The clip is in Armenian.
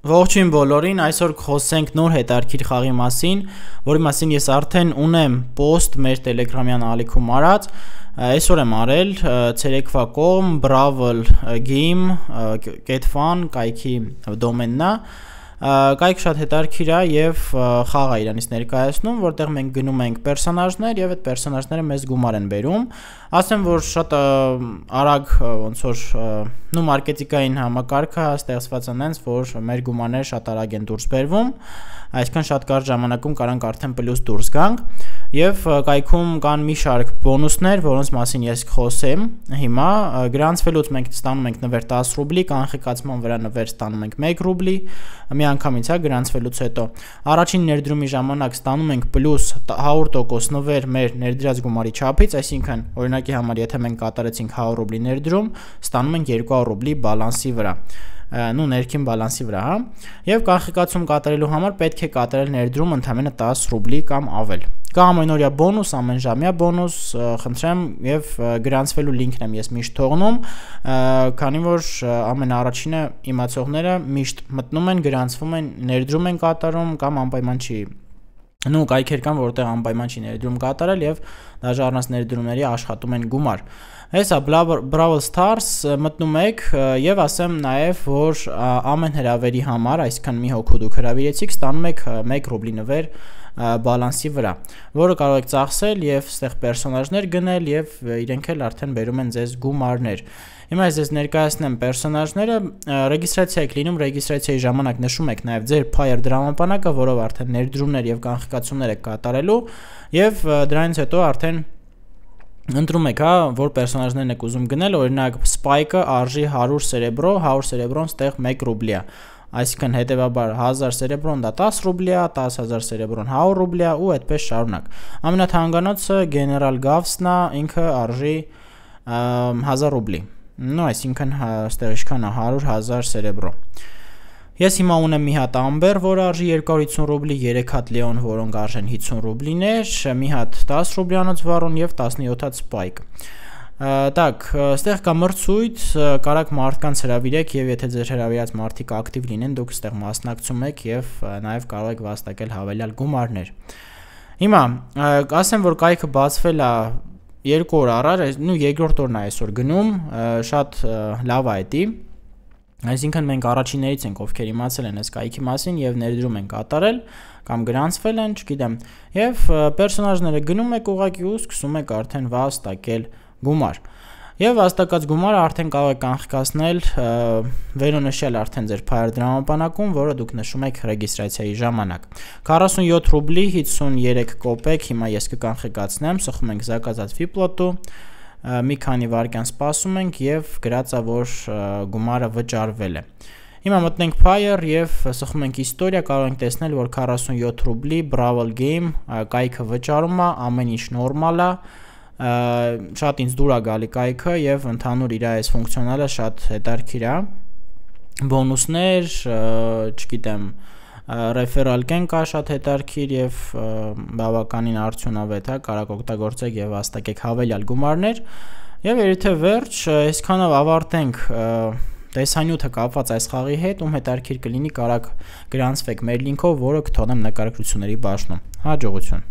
Ողջույն բոլորին, այսօր խոսենք նոր հետարքիր խաղի մասին, որի մասին ես արդեն ունեմ post մեր Telegram-յան ալիքում արած, այսօր եմ արել ցերեկվա կողմ bravel.game.fan կայքի դոմենն է, կայք շատ հետարքիր է եւ խաղ է իրանից ներկայացնում, որտեղ մենք գնում ենք պերսոնաժներ եւ այդ պերսոնաժները մեզ գումար են բերում, ասեմ որ շատ արագ ոնց որ նու մարքեթինգային համակարգը ստեղծված է այնց, որ մեր գումարները շատ արագ են դուրս բերվում, այսքան շատ կարճ ժամանակում կարանք արդեն պլյուս դուրս գանք եւ կայքում կան մի շարք բոնուսներ, որոնց մասին ես կխոսեմ հիմա, գրանցվելուց մենք ստանում ենք նվեր 10 ռուբլի, կանխիկացման վրա նվեր ստանում ենք 1 ռուբլի, միանգամից է գրանցվելուց հետո առաջին ներդրումի ժամանակ ստանում ենք պլյուս 100% նվեր մեր ներդրած գումարի չափից, այսինքն օրինակի համար եթե մենք կատարեցինք 100 ռուբլի ներդրում, ստանում ենք 200 ռուբլի բալանսի վրա, նու ներքին բալանսի վրա, հա, եւ կանխիկացում կատարելու համար պետք է կատարել ներդրում ընդամենը 10 ռուբլի կամ ավել։ Կա ամենօրյա բոնուս, ամենժամյա բոնուս, խնդրեմ եւ գրանցվելու լինքն եմ ես միշտ թողնում, քանի որ ամենաառաջինը իմացողները միշտ մտնում են, գրանցվում են, ներդրում են կատարում կամ անպայման չի նու կայքեր կան, որտեղ անպայման չի ներդրում կատարել եւ դաժե առանց ներդրումների աշխատում են գումար։ Հեսա Brawl Stars մտնում եք եւ ասեմ նաեւ որ ամեն հրավերի համար, այսքան մի հոգու դուք հրավիրեցիք, ստանում եք 1 ռուբլի նվեր բալանսի վրա, որը կարող եք ծախսել եւ այստեղ պերսոնաժներ գնել եւ իրենք էլ արդեն բերում են ձեզ գումարներ։ Հիմա ես ձեզ ներկայացնեմ պերսոնաժները, ռեգիստրացիա եք լինում, ռեգիստրացիայի ժամանակ նշում եք նաեւ ձեր Fire դրամապանակը, որով արդեն ներդրումներ եւ կանխիկացումներ եք կատարելու եւ դրանից հետո արդեն ընտրում եք, հա, որ պերսոնաժներն եք ուզում գնել, օրինակ Spike-ը արժի 100 սերեբրո, 100 սերեբրոն ստեղ 1 ռուբլի է։ Այսինքն հետևաբար 1000 սերեբրոն դա 10 ռուբլի է, 10000 սերեբրոն 100 ռուբլի է ու այդպես շարունակ։ Ամենաթանկանոցը General Gavs-ն է, ինքը արժի 1000 ռուբլի։ Նո, այսինքն այստեղ ինչքան է 100.000 սերեբրո։ Ես հիմա ունեմ մի հատ Amber, որը արժի 250 ռուբլի, 3 հատ Leon, որոնք արժեն 50 ռուբլիներ, մի հատ 10 ռուբլյանոց Varon եւ 17 հատ Spike։ Так, այստեղ կա մրցույթ, կարաք մարդկանց հրավիրեք եւ եթե ձեր հրավիրած մարդիկ ակտիվ լինեն, դուք այստեղ մասնակցում եք եւ նաեւ կարող եք վաստակել հավելյալ գումարներ։ Հիմա, ասեմ որ կայքը բացվել է 2 օր առաջ, նու երկրորդ օրն է այսօր գնում, շատ լավ է դա։ Այսինքն մենք առաջիններից ենք, ովքեր իմացել են այս կայքի մասին եւ ներդրում են կատարել կամ գրանցվել են, չգիտեմ, եւ պերսոնաժները գնում եք ուղակի ու սկսում եք արդեն վաստակել գումար։ Եվ վաստակած գումարը արդեն կարող եք կանխիկացնել վերոնշյալ արդեն ձեր Fire դրամապանակում, որը դուք նշում եք ռեգիստրացիայի ժամանակ։ 47 ռուբլի 53 կոպեկ, հիմա ես կկանխիկացնեմ, սխում ենք զակազած Vplot-ու, մի քանի վայրկյան սպասում ենք եւ գրածա որ գումարը վճարվել է։ Հիմա մտնենք Fire եւ սխում ենք իստորիա, կարող ենք տեսնել որ 47 ռուբլի Brawl Game կայքը վճարում է, ամեն ինչ նորմալ է, շատ ինձ դուր է գալի կայքը եւ ընդհանուր իր այս ֆունկցիոնալը շատ հետարքիր է։ Բոնուսներ, չգիտեմ, referral կեն կա շատ հետարքիր եւ բավականին արդյունավետ է, կարաք օգտագործեք եւ վաստակեք հավելյալ գումարներ եւ եթե վերջ այսքանով ավարտենք տեսանյութը կապված այս խաղի հետ, ում հետարքիր կլինի կարաք գրանցվեք մեր լինքով, որը կթողնեմ նկարագրությունների բաժնում։ Հաջողություն։